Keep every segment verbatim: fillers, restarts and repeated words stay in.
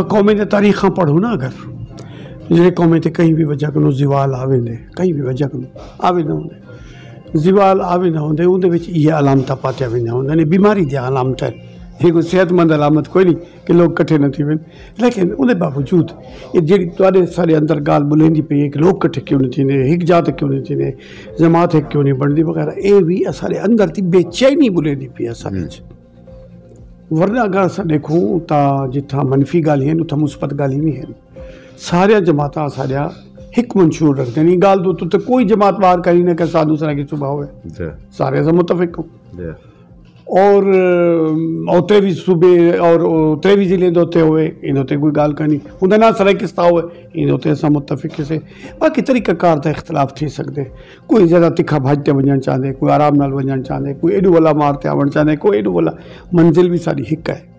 قومیں دے تاریخاں پڑھو نا اگر، جیڑھے قومیں تے کہیں بھی وجہ کنوں زوال آ ویندے، کہیں بھی وجہ کنوں آ ویندے ہوندے، زوال آ ویندے ہوندے، اوندے وچ ایہے علامتاں پاتیاں ویندیاں ہوندیاں نے، بیماری دیاں علامتاں ہن۔ اے کوئی صحت مند علامت کوئی نہیں کہ لوگ کٹھے نہ تھی وین۔ لیکن اوندے باوجود اے جیڑھی تہاڈے سارے اندر گالھ بلیندی پئی ہے کہ لوگ کٹھے کیوں نہیں تھیندے، ہک جات کیوں نہیں تھیندے، جماعت ہک کیوں نہیں بنتی وغیرہ، اے وی اساڈے اندر دی بے چینی بلیندی پئی ہے اساڈے وچ۔ ورنہ اگر اساں ڈیکھوں تاں جتھاں منفی گالھ ہن، اتھاں مثبت گالھ ہی نہیں ہن۔ ساریاں جماعتاں ساڈیاں ہک منشور رکھدے نے۔ گالھ دے اتے کوئی جماعت بار کری نہ کہ ساڈو سرائیکی صوبہ ہوئے۔ سارے اساں متفق ہوں۔ اور اور تریوی صوبے اور تریوی ضلع دے اتے ہوئے، ان اتے کوئی گالھ کائنی۔ ہوندا نہ سرائیکستان ہوئے، ان اتے اساں متفق سے۔ باقی طریقہ کار دا اختلاف تھی سکدے۔ کوئی زیادہ تکھا بھج تے ونجن چاہندے، کوئی آرام نال ونجن چاہندے، کوئی ایڈو والا مار تے آون چاہندے، کوئی ایڈو والا۔ منزل بھی ساری ہک ہے۔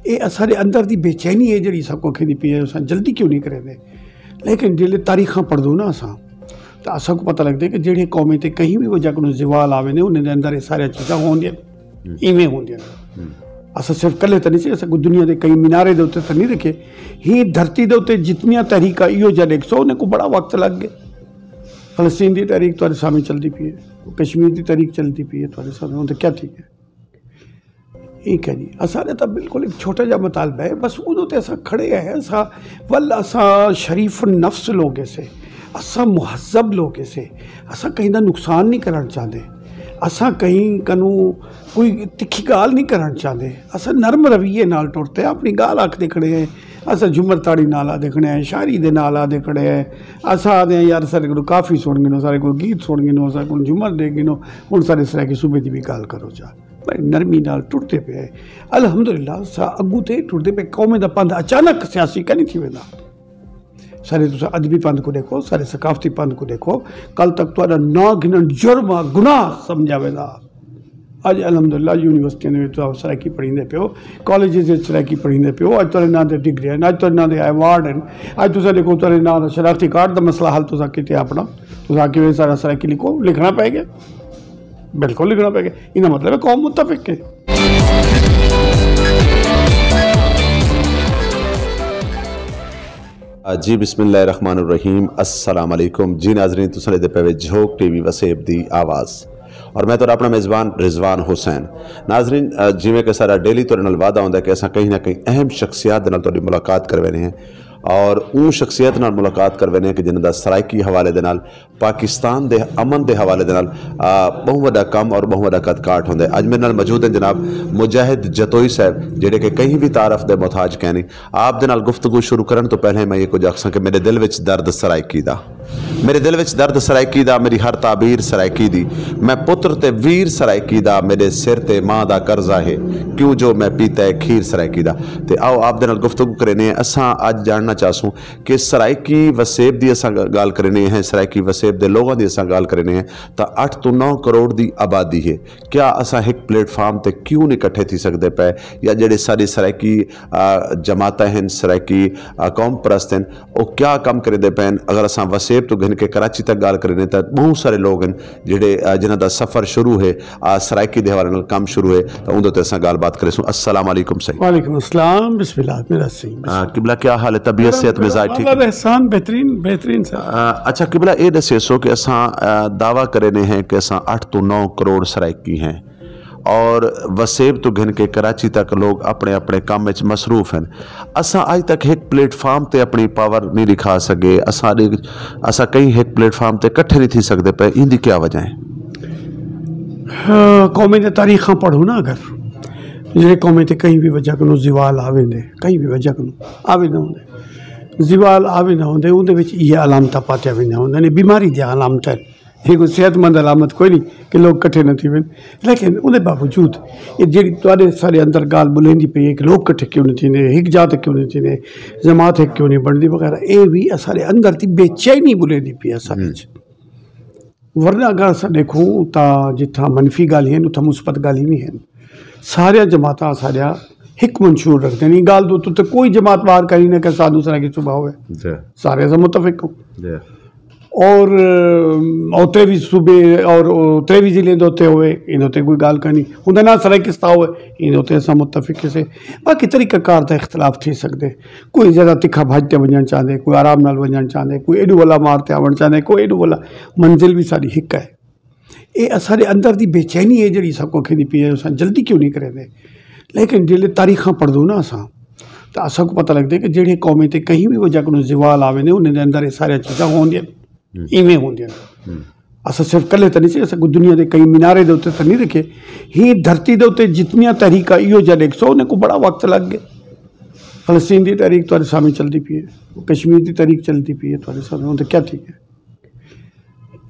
اے اساڈے اندر دی بے چینی ہے جیڑھی ساکوں کھیندی پئی ہے، اساں جلدی کیوں نہیں کریندے؟ لیکن جیلے تاریخاں پڑھدوں نا اساں، تاں اساکوں پتہ لگدے کہ جیڑھے قومیں تے کہیں بھی وجہ کنوں زوال آوے نے، انہیں دے اندر اے ساریاں چیزاں ہوندیاں، ایویں ہوندیاں۔ اساں صرف کلے تے نہیں سی، اساں کوئی دنیا دے کئی مینارے دے اتے تے نہیں رکھے۔ ہی دھرتی دے اتے جتنیاں تحریکاں ایہو جا ڈیکھسو، انہیں کو بڑا وقت لگ گئے۔ فلسطین دی تحریک تہاڈے سامنے چلدی پئی ہے، کشمیر دی تحریک چلدی پئی ہے تہاڈے سامنے، ہن تے کیا تھی گیا؟ ٹھیک ہے جی، اساڈے تاں بالکل ایک چھوٹا جا مطالبہ ہے، بس اودوں تے اساں کھڑے ہیں۔ اساں ول اساں شریف النفس لوگ سے، اساں مہذب لوگ سے، اساں کہیں دا نقصان نہیں کرن چاہندے، اساں کہیں کنوں کوئی تکھی گالھ نہیں کرن چاہندے۔ اساں نرم رویے نال ٹرتے اپنی گالھ آکھدے کھڑے ہیں۔ اساں جھمر تاڑی نال آدھے کھڑے ہیں، شاعری دے نال آدھے کھڑے ہیں۔ اساں آدھے ہیں یار سارے کو کافی سن گنو، سارے کو گیت سن گنو، سارے کو جھمر دے گنو، ہن سارے سرائیکی صوبے دی بھی گالھ کرو چا۔ بڑی نرمی نال ٹردے پئے۔ الحمدللہ سا اگوں تے ٹردے پئے، قومیں دا پندھ اچانک سیاسی کائنی تھی ویندا۔ سارے تساں ادبی پندھ کو ڈیکھو، سارے ثقافتی پندھ کو ڈیکھو، کل تک تہاڈا ناں گھنن جرم آ، گناہ سمجھا ویندا۔ اج الحمدللہ یونیورسٹیاں دے وچ تساں سرائیکی پڑھیندے پیو، کالجز وچ سرائیکی پڑھیندے پیو، اج تہاڈے ناں دے ڈگری ہن، اج تہاڈے ناں دے ایوارڈ ہن، اج تساں ڈیکھو تہاڈے ناں دا شناختی کارڈ دا مسئلہ حل تساں کیتے اپنا، تساں آکھیے سارا سرائیکی لکھو، لکھنا پے گیا۔ بالکل لکھنا پے گیا۔ ایندا مطلب ہے قوم متفق ہے۔ جی بسم اللہ الرحمن الرحیم، السلام علیکم۔ جی ناظرین، تساں دے پے وے جھوک ٹی وی وسیب دی آواز اور میں تہاڈا اپنا میزبان رضوان حسین۔ ناظرین، جویں کہ سارا ڈیلی تہاڈے نال وعدہ ہوندا ہے کہ اساں کہیں نہ کہیں اہم شخصیات دے نال تہاڈی ملاقات کروینے ہیں اور اوں شخصیت نال ملاقات کروینے ہیں کہ جنہاں دا سرائیکی حوالے دے نال پاکستان دے امن دے حوالے دے نال، آ، ٻہوں وݙا کم اور ٻہوں وݙا قد کاٹ ہوندے۔ اڄ میݙے نال موجود ہیں جناب مجاہد جتوئی صاحب، جیڑھے کہ کہیں وی تعارف دے محتاج کائنی۔ آپ دے نال گفتگو شروع کرݨ توں پہلے میں ایہ کجھ آکھساں کہ میݙے دل وچ درد سرائیکی دا، میݙے دل وچ درد سرائیکی دا، میݙی ہر تعبیر سرائیکی دی۔ میں پتر تے ویر سرائیکی دا، میݙے سر تے ماں دا قرضہ ہے، کیوں جو میں پیتا ہے کھیر سرائیکی دا۔ تے آؤ آپ دے نال گفتگو کرینے ہیں۔ اساں اڄ ڄاݨنا چاہسوں کہ سرائیکی وسیب دی اساں ڳالھ کرینے ہیں، سرائیکی وسیب دے لوگاں دی اساں ڳالھ کرینے ہیں، تاں اٹھ توں نو کروڑ دی آبادی ہے۔ کیا اساں ہک پلیٹ فارم تے کیوں نہیں کٹھے تھی سڳدے پئے؟ یا جیڑھے ساݙے سرائیکی، آ، جماعتاں ہن، سرائیکی، آ، قوم پرست ہن، او کیا کم کریندے پئے ہن؟ اگر اساں وسیب توں گھن کے کراچی تک ڳالھ کرینے تاں ٻہوں سارے لوگ ہن جیڑھے، آ، جنہاں دا سفر شروع ہے، آ، سرائیکی دے حوالے نال کم شروع ہے، تاں اوندے تے اساں ڳالھ بات کریسوں۔ السلام علیکم سائیں۔ وعلیکم السلام، بسم اللہ، میرا سائیں۔ آ، قبلہ کیا حال ہے؟ طبیعت، صحت، مزاج ٹھیک ہے؟ احسان، بہترین، بہترین سر۔ آ، اچھا قبلہ، اے ݙسیسو کہ اساں، آ، دعویٰ کرینے ہیں کہ اساں اٹھ توں نو کروڑ سرائیکی ہیں اور وسیب توں گھن کے کراچی تک لوگ اپݨے اپݨے کم وچ مصروف ہیں۔ اساں اڄ تک ہک پلیٹ فارم تے اپݨی پاور نہیں ݙکھا سڳے۔ اساں ݙے-، اساں کہیں ہک پلیٹ فارم تے کٹھے نہیں تھی سڳدے پئے۔ ایندی کیا وجہ ہے؟ قومیں دے تاریخاں پڑھو نا اگر، جیڑھے قومیں تے کہیں وی وجہ کنوں زوال آ ویندے، کہیں وی وجہ کنوں آ ویندے ہوندے، زوال آ ویندے ہوندے، اوندے وچ ایہے علامتاں پاتیاں ویندیاں ہوندیاں نے، بیماری دیاں علامتاں ہن۔ اے کوئی صحت مند علامت کوئی نہیں کہ لوگ کٹھے نہ تھی وین۔ لیکن اوندے باوجود اے جیڑھی تہاڈے سارے اندر گالھ بلیندی پئی ہے کہ لوگ کٹھے کیوں نہ تھیندے، ہک جات کیوں نہ تھیندے، جماعت ہک کیوں نہیں بنتی وغیرہ، اے وی اساڈے اندر دی بے چینی بلیندی پئی ہے اساڈے وچ۔ ورنہ اگر اساں ݙیکھوں تاں جتھاں منفی ڳالھیں ہن، اتھاں مثبت ڳالھیں وی ہن۔ ساریاں جماعتاں اساݙیاں ہک منشور رکھدین۔ ایں ڳالھ دے اتے کوئی جماعت ٻاہر کائنی نہ کہ ساݙو سرائیکی صوبہ ہووے۔ جی۔ سارے اساں متفق ہوں۔ جی۔ اور او تریوی صوبے اور او تریوی ضلع دے اتنے ہوئے، ان اتنے کوئی گال کہانی ہوں نہ سرائیکستا ہوئے، ان اتنے اسا متفق سے۔ باقی طریقہ کار دا اختلاف تھی سکتے، کوئی زیادہ تکھا بھج تے ونجن چاہتے، کوئی آرام نال ونجن چاہتے، کوئی ایڈو والا مار تے آون چاہتے، کوئی ایڈو والا۔ منزل بھی ساری ہک ہے۔ یہ سارے اندر دی بے چینی ہے جڑی سب کو کھیدی پی ہے، اساں جلدی کیوں نہیں کریں دے؟ لیکن جلے تاریخاں پڑھ دو نا اساں، تو اساں کو پتہ لگتا ہے کہ جڑے قومیں تے کہیں بھی وجہ کو زوال آوے نے، انہیں دے اندر یہ سارے چیزاں ہوندیاں، ایویں ہوندیاں۔ اساں صرف کلے تو نہیں سی، اساں کو دنیا دے کئی مینارے دے اتنے تو نہیں رکھے۔ ہی دھرتی دے اتنے جتنیاں تحریکاں ایو جا ڈیکھ سو، انہیں کو بڑا وقت لگ گئے۔ فلسطین دی تحریک تھوڑے سامنے چلتی پی ہے، کشمیر دی تحریک چلتی پی ہے تھوڑے سامنے، ہوں تو کیا تھی ہے؟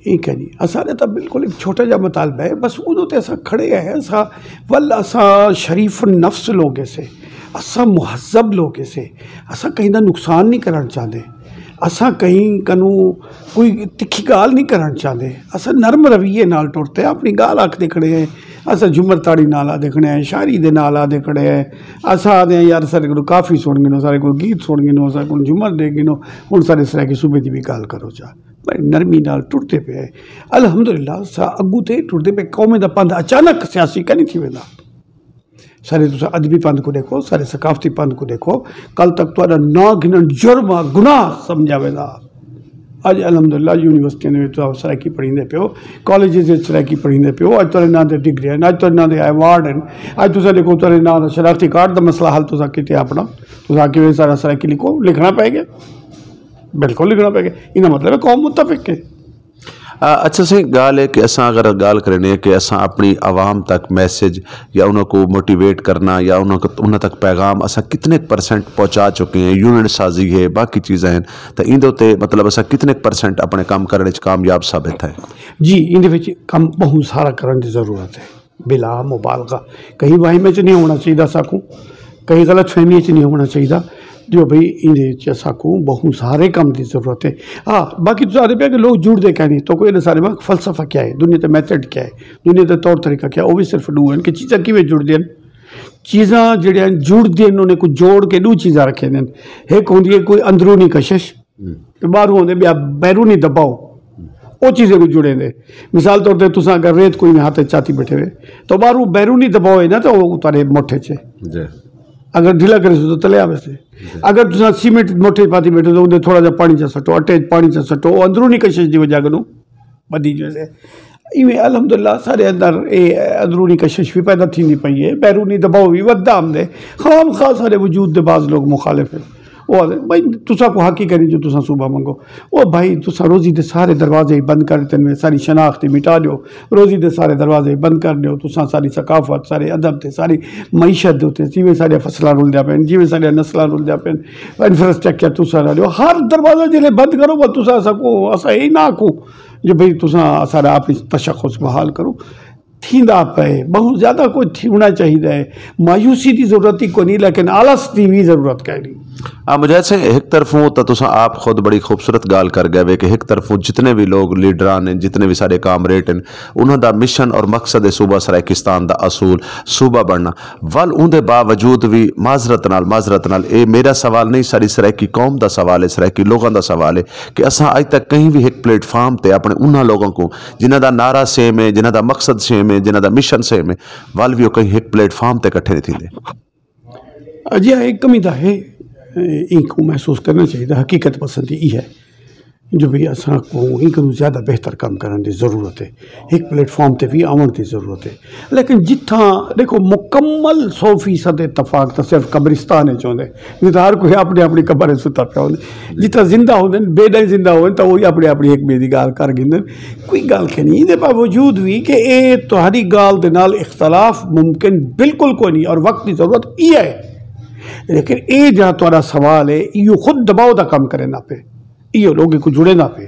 ایک ہے جی، اساں نے تو بالکل ایک چھوٹا جا مطالبہ ہے، بس ادو تے اساں کھڑے ہیں۔ اساں ول اساں شریف النفس لوگ سے، اساں مہذب لوگ سے، اساں کہیں دا نقصان نہیں کرنا چاہتے، اساں کہیں کنو کوئی تکھی گال نہیں کرنا چاہتے۔ اساں نرم رویے نال ٹرتے ہیں، اپنی گال آکھتے کھڑے ہیں۔ اساں جھمر تاڑی نال آ دیکھنے ہیں، شاعری دے نال آ دیکھنے ہیں۔ اساں آدھے ہیں یار سارے کو کافی سن گنو، سارے کو گیت سن گنو، سارے کو جھمر دے گنو، ہن سارے سرائیکی صوبے دی بھی گال کرو چا۔ بڑی نرمی نال ٹرتے پے ہیں۔ الحمدللہ سا اگو تے ٹرتے پے۔ قومیں دا پندھ اچانک سیاسی کا نہیں تھی ویندا۔ سارے تسا ادبی پندھ کو دیکھو، سارے ثقافتی پندھ کو دیکھو، کل تک تہاڈا ناں گھنن جرم آ، گناہ سمجھا ویندا۔ اج الحمدللہ یونیورسٹیاں دے وچ تسا سرائیکی پڑھیندے پیو، کالجز وچ سرائیکی پڑھیندے پیو، اج تہاڈے ناں دے ڈگری ہیں، اج تہاڈے ناں دے ایوارڈ ہیں۔ اج تسا دیکھو تہاڈے ناں دا شناختی کارڈ دا مسئلہ حل تسا کیتے اپنا، تسا کیویں سارا سرائیکی لکھو، لکھنا پے گیا، بالکل لکھنا پے گیا۔ ایندا مطلب ہے قوم متفق ہے۔ آ، اچھا سائیں، گال ہے کہ اساں اگر گال کرنے ہیں کہ اساں اپنی عوام تک میسج یا انہاں کو موٹیویٹ کرنا یا انہاں کو، انہاں تک پیغام اساں کتنے پرسنٹ پہنچا چکے ہیں، یونٹ سازی ہے، باقی چیزاں ہیں، تو ایندے تے مطلب اساں کتنے پرسنٹ اپنے کام کرنے چ کامیاب ثابت ہے؟ جی، ایندے وچ کم بہت سارا کرن دی ضرورت ہے، بلا مبالغہ۔ کہیں وہم وچ نہیں ہونا چاہیے ساکوں، کہیں غلط فہمی وچ نہیں ہونا چاہیے۔ جو بھئی ایندے وچ ساکوں بہت سارے کم دی ضرورت ہے۔ ہاں، باقی تو سارے پہ کہ لوگ جڑ دے کہیں نہیں، تو کوئی نہ سارے میں فلسفہ کیا ہے، دنیا تے میتھڈ کیا ہے، دنیا تے طور طریقہ کیا ہے، وہ بھی صرف ڈو ہیں کہ چیزاں کیویں جڑ دین۔ چیزاں جڑیاں جڑ دین، انہیں کو جوڑ کے ڈو چیزاں رکھے دین۔ ایک ہوندی ہے کوئی اندرونی کشش، تے ٻاہروں آندے ٻیا بیرونی دباؤ، او چیزیں کوں جڑیندے۔ مثال طور تے تساں اگر ریت کوئی ہتھ اچ چاتی بیٹھے ہوئے تو ٻاہروں بیرونی دباؤ ہے نا، تو او تہاڈے مٹھ اچ ہے۔ جی۔ اگر ڈھیلا کرے سو تو تلے آوے سے۔ اگر تساں سیمنٹ مٹھ اچ پاتی بیٹھے تو اوندے تھوڑا جہا پانی چا سٹو، اٹے اچ پانی چا سٹو، او اندرونی کشش دی وجہ کنوں ودی جو سے۔ ایویں الحمدللہ سارے اندر اے اندرونی کشش بھی پیدا تھیندی پئی ہے، بیرونی دباؤ بھی ودھدا آمدے۔ خام خواہ سارے وجود دے بعض لوگ مخالف ہیں۔ او آہدے بھائی تساں کو حق ہی کریں جو تساں صوبہ منگو۔ او بھائی تساں روزی دے سارے دروازے ہی بند کر ݙتن، ساری شناخت ہی مٹا ݙیو، روزی دے سارے دروازے ہی بند کر ݙیو۔ تساں ساری ثقافت، سارے ادب تے ساری معیشت دے اتے جیویں ساݙیاں فصلاں رلدیاں پئن، جیویں ساݙیاں نسلاں رلدیاں پئن، انفراسٹرکچر تساں رہ ݙیو۔ ہر دروازہ جیلے بند کرو، بس تساں اساں کو، اساں اے نہ آکھوں جو بھئی تساں سارا اپݨی تشخص بحال کرو۔ تھیندا پئے، بہوں زیادہ کجھ تھیوݨا چاہیدا ہے۔ مایوسی دی ضرورت ہی کونی، لیکن آلس دی وی ضرورت کائنی۔ آ مجاہد سئیں، ہک طرفوں تاں تساں آپ خود بڑی خوبصورت ڳالھ کر ڳئے وے کہ ہک طرفوں جتنے وی لوگ لیڈران ہن، جتنے وی ساݙے کامریڈ ہن، انہاں دا مشن اور مقصد ہے صوبہ سرائیکستان دا اصول صوبہ بݨنا۔ ول اوندے باوجود وی معذرت نال، معذرت نال، اے میݙا سوال نہیں، ساݙی سرائیکی قوم دا سوال ہے، سرائیکی لوگاں دا سوال ہے کہ اساں اڄ تک کہیں وی ہک پلیٹ فارم تے اپݨے انہاں لوگاں کوں جنہاں دا نعرہ سیم ہے، جنہاں دا مقصد سیم ہے، جنہاں دا مشن سیم ہے، ول وی او کہیں ہک پلیٹ فارم تے کٹھے نہیں تھیندے۔ اجہا ایک کمی دا ہے، اینکوں محسوس کرنا چاہیے۔ حقیقت پسندی ای ہے جو بھئی اساں کو اینکوں زیادہ بہتر کم کرن دی ضرورت ہے، ایک پلیٹ فارم تے بھی آون دی ضرورت ہے۔ لیکن جتھاں دیکھو مکمل سو فیصد اتفاق تو صرف قبرستان وچ ہوندے، نہیں تو ہر کوئی اپنی اپنی قبر وچ ستا پیا ہوندے۔ جتھاں زندہ ہوندے، بے ڈائیں زندہ ہوندے تو وہی اپنی اپنی ایک بے دی گال کر گھندے۔ کوئی گال کھے نہیں، ایندے باوجود وی کہ اے تہاڈی گال دے نال اختلاف ممکن بالکل کوئی نہیں اور وقت دی ضرورت ای ہے۔ لیکن اے جہاں تہاڈا سوال ہے، ایہو خود دباؤ دا کم کریندا پئے، ایہو لوگیں کوں جڑیندا پئے۔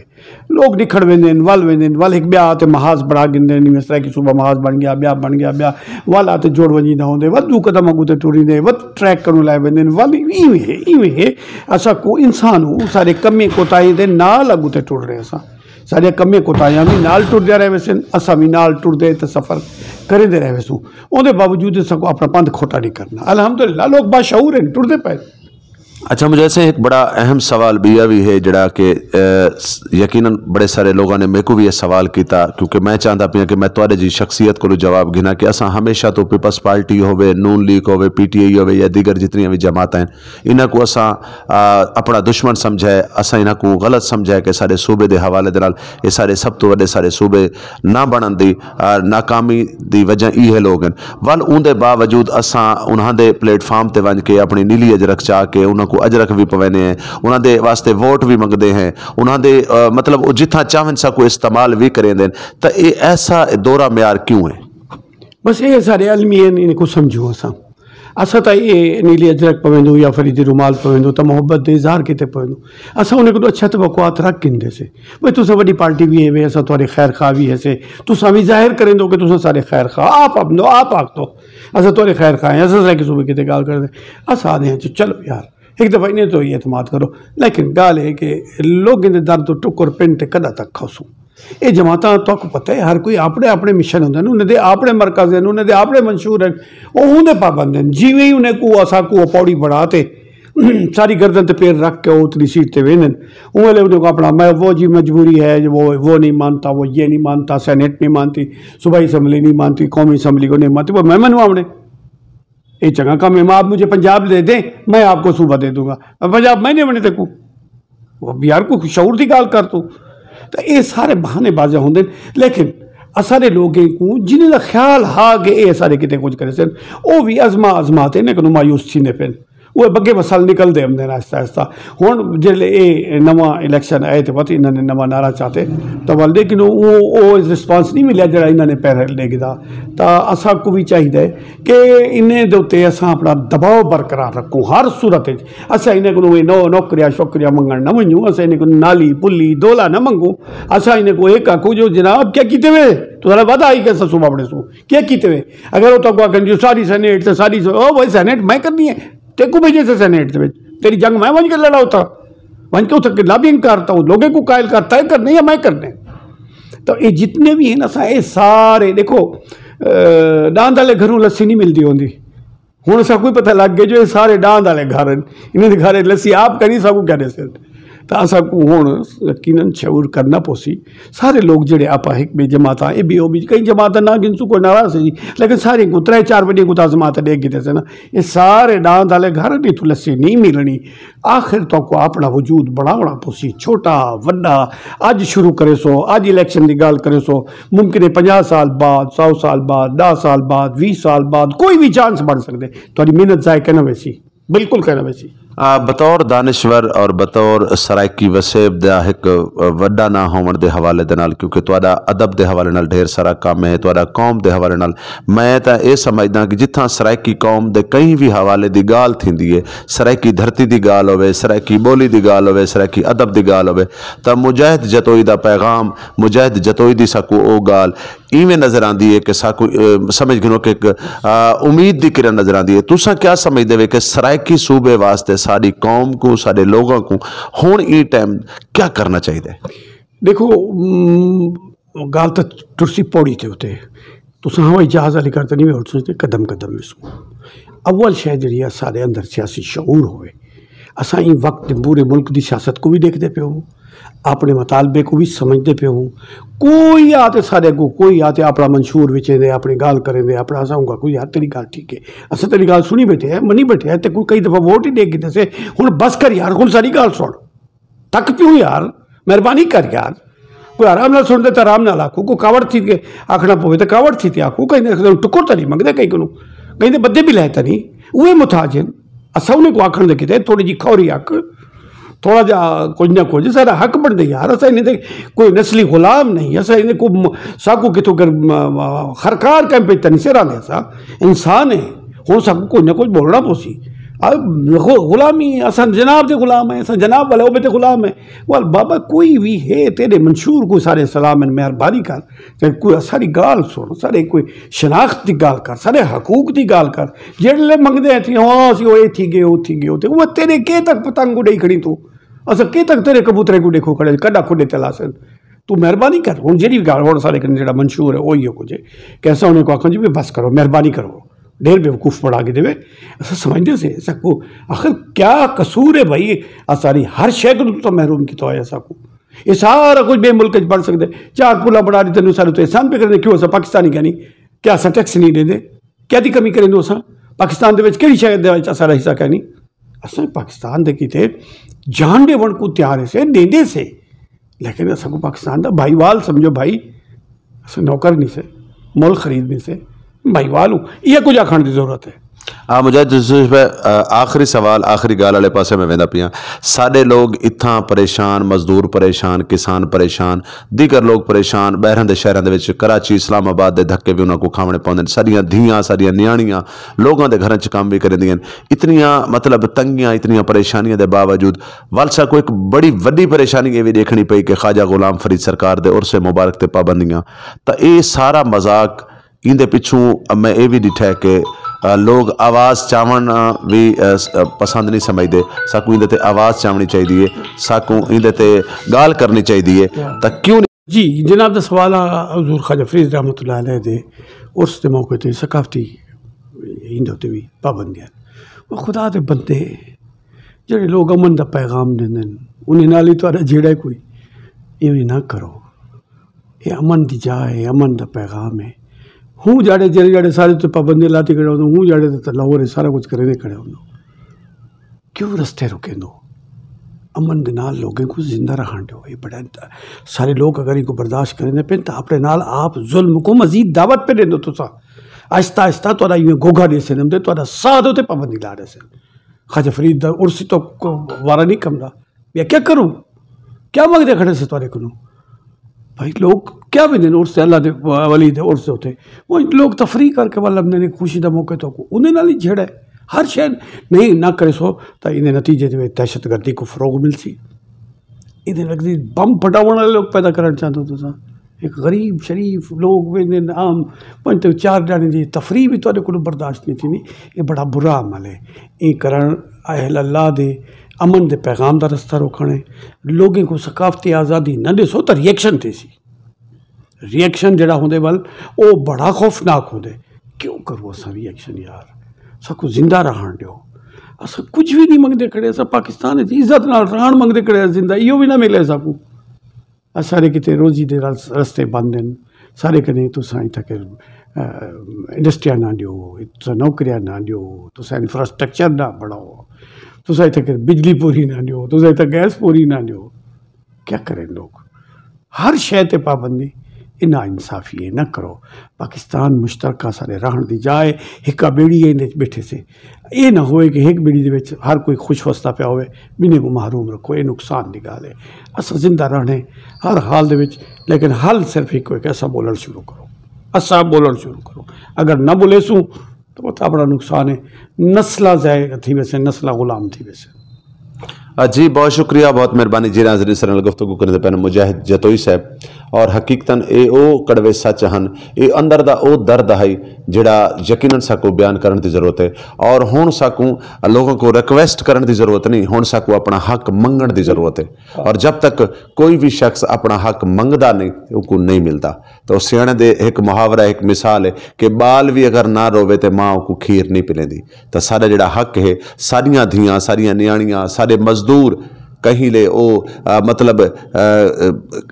لوگ نکھڑ ویندے ہن، ول ویندے ہن، ول ہک ٻیا تے محاذ بݨا گھندے ہن، جیویں سرائیکی صوبہ محاذ بݨ ڳیا، ٻیا بݨ ڳیا، ٻیا ول آ تے جڑ ونڄیندے ہوندے، ول ݙو قدم اڳوں تے ٹریندے، ول ٹریک کنوں لائے ویندے ہن، ول ایویں ہے، ایویں ہے۔ اساں کو انسان ہوں، سارے کمیں کوتاہیں دے نال اڳوں تے ٹر رہے اساں۔ ساݙیاں کمیں کوتاہیاں وی نال ٹردیاں رہ ویسن، اساں وی نال ٹردے تے سفر کریندے رہ ویسوں۔ اوندے باوجود اساں کوں اپݨا پندھ کھوٹا نہیں کرنا۔ الحمدللہ لوک باشعور ہن، ٹردے پئے۔ اچھا مجھے ایسے ایک بڑا اہم سوال بیا بھی ہے جڑا کہ یقیناً بڑے سارے لوگوں نے میرے کو بھی یہ سوال کیتا، کیونکہ میں چاہتا پیا کہ میں تھوڑے جی شخصیت کو جواب گھنا کہ اساں ہمیشہ تو پیپلز پارٹی ہوے، نون لیگ ہوے، پی ٹی آئی ہوے یا دیگر جتنی بھی جماعتیں ہیں، انہاں کو اساں اپنا دشمن سمجھا ہے، اساں انہاں کو غلط سمجھا ہے کہ سارے صوبے دے حوالے دے نال یہ سارے سب تو وڈے سارے صوبے نہ بنن دی ناکامی دی وجہ ای ہے لوگ ہیں۔ ول اون دے باوجود اساں انہاں دے پلیٹ فارم تے ونج کے اپنی نیلی اجرک چا کے انہاں کو اجرک بھی پوینے ہیں، انہاں دے واسطے ووٹ بھی منگدے ہیں، انہاں دے مطلب وہ جتھاں چاہن سا کو استعمال بھی کریں دین۔ تو یہ ایسا دورہ معیار کیوں ہے؟ بس یہ سارے علمی ہیں، ان کو سمجھو اساں۔ اساں تاں اے نیلی اجرک پویندوں یا فریدی رومال پویندوں تاں محبت دے اظہار کیتے پویندوں۔ اساں انہیں کولوں اچھا توقعات رکھ گھندے سے۔ بھئی تساں وڈی پارٹی وی ہیوے، اساں تہاڈے خیر خواہ وی ہیسے۔ تساں وی ظاہر کریندو کہ تساں ساڈے خیر خواہ۔ آپ آکھندو، آپ آکھدو اساں تہاڈے خیر خواہ ہیں، اساں سرائیکی صوبے کیتے گال کردے۔ اساں آکھدے ہیں جی چلو یار، ہک دفعہ انہیں تے ہی اعتماد کرو۔ لیکن گالھ اے کہ لوکیں دے در توں ٹکر پن تے کڈاں تک کھوسوں؟ اے جماعتاں تہاکوں پتہ ہے ہر کوئی آپنے آپنے مشن ہوندے ہن، انہیں دے آپنے مرکز ہن، انہیں دے آپنے منشور ہن، او اوندے پابند ہن۔ جیویں ہی انہیں کوں اساکوں او پوڑی بنا تے ساڈی گردن تے پیر رکھ کے او اتلی سیٹ تے ویندن، اوں ویلے انہیں کوں اپنا میں وہ جی مجبوری ہے، وہ وہ نہیں مانتا، وہ یہ نہیں مانتا، سینیٹ نہیں مانتی، صوبائی اسمبلی نہیں مانتی، قومی اسمبلی کو نہیں مانتی، وہ میں منواونے۔ اے چنگا کم ہے، آپ مجھے پنجاب دے دیں، میں آپ کو صوبہ دے دوں گا۔ پنجاب میں نہیں بنے تیکوں۔ وہ یار کوئی شعور دی گال کر تو۔ تو اے سارے بہانے بازی ہوندے، لیکن اساڈے لوگیں کو جنہیں دا خیال ہا کہ اے سارے کتے کچھ کرے سن، او بھی ازما ازما تے انہیں کو مایوس تھی نے پن۔ وہ بگے مسل نکل دے ہم آہستہ آہستہ۔ ہن جلے اے نواں الیکشن آئے تے پتہ انہاں نے نواں نعرہ چاتے، تو ول لیکن او او رسپانس نہیں ملیا جڑا انہاں نے پہلے ڈے گدا۔ تا اساں کو بھی چاہیدا ہے کہ انہیں دے اتے اساں اپنا دباؤ برقرار رکھوں ہر صورت وچ۔ اساں انہیں کو نو نوکریاں شوکریاں منگن نہ ونجوں، اساں انہیں کو نالی پلی دولا نہ منگوں۔ اساں انہیں کو ایک آکھوں جو جناب کیا کیتے وے؟ تو سارا وعدہ آئی کہ اساں صوبہ بنے سوں کیا کیتے وے؟ اگر وہ تو کو آکھن جو ساری سینیٹ تے ساری سو او بھائی سینیٹ میں کرنی ہے، تیکوں بھیجے سے سینیٹ دے وچ، تیری جنگ میں ونج کے لڑا اتھا، ونج کے اتھا لابینگ کر، تو لوگیں کو قائل کر، طے کرنے یا میں کرنے۔ تو یہ جتنے بھی ہیں نا سا یہ سارے دیکھو، ڈاند والے گھروں لسی نہیں ملتی ہوندی۔ ہن اساں کوئی پتہ لگ گیا جو یہ سارے ڈاند والے گھر ہیں، انہیں دے گھر لسی آپ کرنی سا کو کہنے سے۔ تو اساں کو ہن یقیناً شعور کرنا پوسی۔ سارے لوگ جڑے آپاں ہک ٻئے جماعتاں اے بی او بی کئی جماعتاں نہ گنسوں کوئی ناراض ہے جی، لیکن سارے کو ترے چار وڈی کو تازمات دے گھدے سے نا۔ یہ سارے ڈاند والے گھر بھی تو لسی نہیں ملنی۔ آخر تو کو اپنا وجود بڑھاونا پوسی، چھوٹا وڈا۔ اج شروع کرے سو، اج الیکشن دی گال کرے سو، ممکن ہے پنجاہ سال بعد، سو سال بعد، دہ سال بعد، ویہہ سال بعد کوئی بھی چانس بن سکدے۔ تہاڈی محنت ضائع کنا ویسی، بالکل کنا ویسی۔ آ، بطور دانشور اور بطور سرائیکی وسیب دا ہک، آ، وڈا نہ ہوون دے حوالے دے نال، کیونکہ تہاڈا ادب دے حوالے نال ڈھیر سارا کم ہے، تہاڈا قوم دے حوالے نال، میں تاں اے سمجھداں کہ جتھاں سرائیکی قوم دے کہیں وی حوالے دی گالھ تھیندی ہے، سرائیکی دھرتی دی گالھ ہووے، سرائیکی ٻولی دی گالھ ہووے، سرائیکی ادب دی گالھ ہووے، تاں مجاہد جتوئی دا پیغام، مجاہد جتوئی دی ساکوں او گالھ ایویں نظر آندی ہے کہ ساکوں، اے، سمجھ گھنو کہ ہک، آ، امید دی کرن نظر آندی ہے۔ تساں کیا سمجھدے وے کہ سرائیکی صوبے واسطے ساڈی قوم کوں، ساڈے لوگاں کوں ہݨ ایں ٹائم کیا کرنا چاہیدا ہے؟ ݙیکھو، م، ڳالھ تاں ٹرسی پوڑی تے اتے۔ تساں ہوائی جہاز والی کر تے نہیں وے اٹھ سکدے، قدم قدم ویسوں۔ اول شے جڑی ہے، سارے اندر سیاسی شعور ہوئے۔ اساں ایں وقت پورے ملک دی سیاست کو بھی ݙیکھدے پئے ہوں، اپنے مطالبے کو بھی سمجھدے پئے ہوں۔ کوئی آ تے سارے کو، کوئی آ تے اپنا منشور وچیندے، اپنی ڳالھ کریندے، اپنا اساں کا کوئی یار تیری ڳالھ ٹھیک ہے، اساں تیری ڳالھ سنی بیٹھے ہیں، منی بیٹھے ہیں، تے کوئی کئی دفعہ ووٹ ہی ݙے گھدے سے۔ ہن بس کر یار، ہن ساری ڳالھ سن۔ تک پیوں یار، مہربانی کر یار۔ کوئی آرام نال سݨدے تے آرام نال آکھو، کوئی کاوڑ تھی کے آکھݨا پوے تے کاوڑ تھی تے آکھو، کہیں دے ٹکر تاں نہیں منگدے کہیں کنوں، کہیں دے بدے بھی لے تاں نہیں، اوہے محتاج ہن۔ اساں انہیں کو آکھݨ دے کیتے تھوڑی جی کھوری آکھ، تھوڑا جا کچھ نہ کچھ سارا حق بݨدے یار۔ اساں انہیں دے کوئی نسلی غلام نہیں، اساں انہیں کو م-، ساکو کتھوں کر م-، م-، خرکار کہیں پہ تاں نہیں سراندے، اساں انسان ہیں۔ ہن ساکوں کوئی نہ کوئی بولنا پوسی۔ آ، غ-، غلامی، اساں جناب دے غلام ہیں، اساں جناب والے عہدے تے غلام ہیں۔ ول بابا کوئی وی ہے تیرے منشور کو سارے سلام ہیں، مہربانی کر۔ تے کوئی ساری ڳالھ سن، سارے کوئی شناخت دی ڳالھ کر، سارے حقوق دی ڳالھ کر۔ جیڑھلے منگدے ہیں تھی، ہاں، اسی او اے تھی ڳئے، او تھی ڳئے، او تھی، او تیرے کے تک پتنگ کو ݙئی کھڑی تو؟ اساں کے تک تیرے کبوترے کو ݙیکھو کھڑے، کݙا کھڈے تے لاسن؟ تو مہربانی کر، ہن جیڑھی ڳالھ ہن سارے کنے جیڑھا منشور ہے، او ایہو کجھ ہے کہ اساں انہیں کو آکھاں جی، بس کرو، مہربانی کرو۔ ڈھیر بیوقوف بݨا گھدے وے۔ اساں سمجھدے سے ساکوں آخر کیا قصور ہے بھائی؟ اساں ساری ہر شے کوں تاں محروم کیتا ہویا ساکوں۔ یہ سارا کچھ بے ملک وچ بݨ سکدے۔ چار پلاں بݨا ݙتے، تینوں سارے تو احسان پہ کرنے، کیوں اساں پاکستانی کائنی؟ کیا اساں ٹیکس نہیں ݙیندے؟ کیا دی کمی کریندوں اساں؟ پاکستان دے وچ کیڑھی شے دے وچ اساݙا حصہ کائنی؟ اساں پاکستان دے کیتے جان ݙیوݨ کوں تیار ہے سے، ݙیندے سے، لیکن اساں کوں پاکستان دا بھائیوال سمجھو بھائی۔ اساں نوکر نہیں سے، ملک خرید نہیں سے، بھائیوال ہوں۔ یہ کچھ آکھݨ دی ضرورت ہے۔ آ، مجاہد یوسف بھائی، آ، آخری سوال، آخری ڳالھ والے پاسے میں ویندا پیاں۔ ساݙے لوگ اتھاں پریشان، مزدور پریشان، کسان پریشان، دیگر لوگ پریشان، ٻاہراں دے شہراں دے وچ، کراچی، اسلام آباد دے دھکے وی انہاں کوں کھاوݨے پوندن۔ ساݙیاں دھیاں، ساݙیاں نیاݨیاں لوگاں دے گھراں چ کم وی کریندیاں ہن۔ اتنیاں، مطلب، تنگیاں، اتنیاں پریشانیاں دے باوجود ول ساکوں ہک بڑی وݙی پریشانی اے وی ݙیکھݨی پئی کہ خواجہ غلام فرید سرکار دے عرس مبارک تے پابندیاں، تاں اے سارا مذاق۔ ایندے پچھوں میں اے وی ݙٹھا ہے کہ، آ، لوگ آواز چاوݨ، آ، وی، آ، س-، آ، پسند نہیں سمجھدے۔ ساکوں ایندے تے آواز چاوݨی چاہیدی ہے، ساکوں ایندے تے ڳالھ کرݨی چاہیدی ہے۔ تاں کیوں نہیں؟ جی، جناب دا سوال آ حضور خواجہ فرید رحمۃ اللہ علیہ دے عرس دے موقع تے ثقافتی ایندے تے وی پابندیاں۔ او خدا دے بندے، جڑے لوگ امن دا پیغام ݙیندن، انہیں نال ہی تہاݙا جھیڑا ہے کوئی، ایویں نہ کرو۔ اے امن دی جا ہے، امن دا پیغام ہے۔ ہوں جاڑے، جڑے، جڑے سارے تے پابندی لاتی کھڑے ہوندو، ہوں جاڑے تے لاہور ہے، سارا کچھ کریندے کھڑے ہوندو۔ کیوں رستے رکیندو؟ امن دے نال لوگیں کوں زندہ رہݨ ݙیو۔ اے بڑا، سارے لوگ اگر ایکوں برداشت کریندے پن تاں اپݨے نال آپ ظلم کوں مزید دعوت پہ ݙیندو تساں۔ آہستہ آہستہ تہاݙا ایویں گھوگھا ݙیسن، تے تہاݙا ساہ دے اتے پابندی لا ݙیسن۔ خواجہ فرید دا عرس تاں وارا نہیں کمدا۔ یا کیا کروں؟ کیا منگدے کھڑے سے تہاݙے کنوں؟ بھائی، لوگ کیا ویندے نے عرس تے، اللہ دے ولی دے عرس دے اتے؟ وہ لوگ تفریح کر کے ول لبھدے نے، خوشی دا موقع تو کو انہیں نال ہی جھیڑا ہے۔ ہر شے نہیں نہ کرے سو تاں ایندے نتیجے دے وچ دہشت گردی کو فروغ ملسی۔ ایندے لڳدی بم پھٹاوݨ والے لوگ پیدا کرݨ چاہندے ہو تساں۔ ہک غریب شریف لوگ ویندے نے عام پنج تے چار ڄاݨے دی تفریح بھی تہاݙے کولوں برداشت نہیں تھیندی۔ یہ بڑا برا عمل ہے۔ ایں کرݨ اہل اللہ دے امن دے پیغام دا رستہ روکݨ ہے۔ لوگیں کوں ثقافتی آزادی نہ ݙیسو تاں ریئیکشن تھیسی۔ ریئیکشن جڑا ہوندے ول، او بڑا خوفناک ہوندے۔ کیوں کروں اساں ریئیکشن یار؟ ساکوں زندہ رہݨ ݙیو۔ اساں کجھ وی نہیں منگدے کھڑے، اساں پاکستان وچ عزت نال رہݨ منگدے کھڑے، زندہ ایہو وی نہ ملے ساکوں۔ اساݙے کیتے روزی دے رس-، رستے بند ہن۔ ساݙے کنے تساں اتھاں کے، آ، انڈسٹریاں نہ ݙیو، تساں نوکریاں نہ ݙیو، تساں انفراسٹرکچر نہ بݨاؤ، تساں اتھاں کے بجلی پوری نہ ݙیو، تساں اتھاں گیس پوری نہ ݙیو۔ کیا کرن لوگ؟ ہر شے تے پابندی، اے نا انصافی ہے، نہ کرو۔ پاکستان مشترکہ سارے رہݨ دی جا ہے، ہکا ٻیڑی ہے، ایندے وچ ٻیٹھے سے۔ اے نہ ہوئے کہ ہک ٻیڑی دے وچ ہر کوئی خوش وسدا پیا ہوئے، ٻنہیں کوں محروم رکھو، اے نقصان دی ڳالھ ہے۔ اساں زندہ رہݨے ہر حال دے وچ، لیکن حل صرف ہکو ہے کہ اساں ٻولݨ شروع کرو، اساں ٻولݨ شروع کرو۔ اگر نہ ٻولیسوں، تو وت اپݨا نقصان ہے، نسلاں ضائع تھی ویسن، نسلاں غلام تھی ویسن۔ آ، جی، بہت شکریہ، بہت مہربانی جی۔ ناظرین، سارے نال گفتگو کریندے پئے ہن مجاہد جتوئی صاحب، اور حقیقتاً اے او کڑوے سچ ہن، اے اندر دا او درد ہئی جڑا یقیناً ساکوں بیان کرݨ دی ضرورت ہے، اور ہݨ ساکوں لوگوں کو ریکویسٹ کرݨ دی ضرورت نہیں، ہݨ ساکوں اپݨا حق منگݨ دی ضرورت ہے، اور جب تک کوئی بھی شخص اپݨا حق منگدا نہیں، اوکوں نہیں ملدا۔ تو سیاݨے دے ہک محاورہ، ہک مثال ہے کہ ٻال وی اگر نہ رووے تے ماں اوکوں کھیر نہیں پلیندی۔ تاں ساݙا جڑا حق ہے، ساݙیاں دھیاں، ساݙیاں نیاݨیاں، ساݙے مزدور کہیں لے او، آ، مطلب، آ، آ،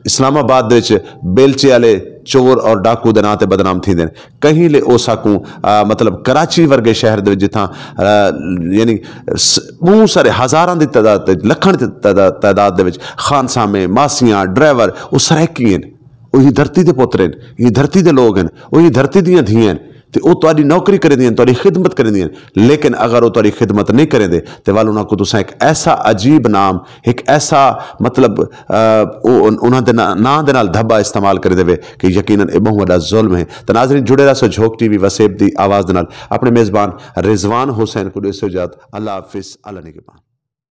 اسلام آباد دے وچ بیلچے والے چور اور ڈاکو دے ناں تے بدنام تھیندے نے، کہیں لے او ساکوں، آ، مطلب کراچی ورگے شہر دے وچ جتھاں، آ، یعنی س-، ٻہوں سارے ہزاراں دی تعداد تے، لکھاں دی تعداد، تعداد دے وچ خانسامے، ماسیاں، ڈرائیور، او سرائیکی ہن۔ او ایں دھرتی دے پتر ہن، ایں دھرتی دے لوگ ہن، او ایں دھرتی دیاں دھیاں ہن، تے او تہاݙی نوکری کریندیاں ہن، تہاݙی خدمت کریندیاں ہن۔ لیکن اگر او تہاݙی خدمت نہیں کریندے، تے ول انہاں کوں تساں ہک ایسا عجیب نام، ہک ایسا، مطلب، آ، او ان-، انہاں دے نا-، ناں دے نال دھبا استعمال کریندے وے کہ یقیناً اے ٻہوں وݙا ظلم ہے۔ تے ناظرین، جڑے رہسو جھوک ٹی وی وسیب دی آواز دے نال۔ اپݨے میزبان رضوان حسین کوں ݙیسو اجازت۔ اللہ حافظ، اللہ نگہبان۔